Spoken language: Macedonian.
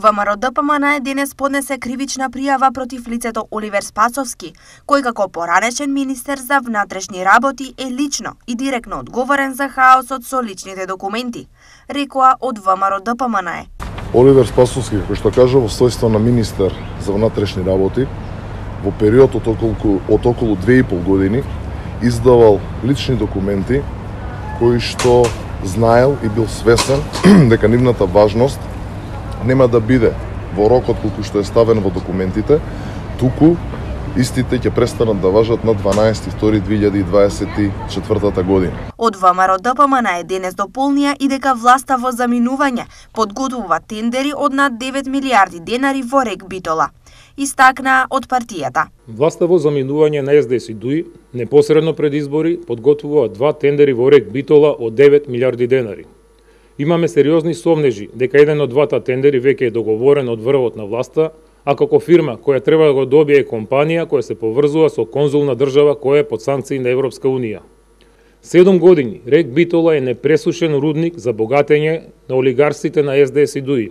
ВМРО-ДПМН денес поднесе кривична пријава против лицето Оливер Спасовски, кој како поранешен министер за внатрешни работи е лично и директно одговорен за хаосот со личните документи, рекоа од ВМРО-ДПМН. Оливер Спасовски, кој што кажа во својство на министер за внатрешни работи, во период од околу 2,5 години издавал лични документи кои што знаел и бил свесен дека нивната важност нема да биде во рокот колку што е ставен во документите, туку истите ќе престанат да важат на 12.2.2024 година. Од ВМРО-ДПМН денес дополнија и дека власта во заминување подготвува тендери од над 9 милиарди денари во РЕК Битола. Истакна од партијата. Власта во заминување на СДС-ДУИ непосредно пред избори подготвува 2 тендери во РЕК Битола од 9 милиарди денари. Имаме сериозни сомнежи дека еден од двата тендери веќе е договорен од врвот на власта, а како фирма која треба да го добие е компанија која се поврзува со конзулна држава која е под санкции на Европска Унија. 7 години РЕК Битола е непресушен рудник за богатење на олигарсите на СДС-ДУИ.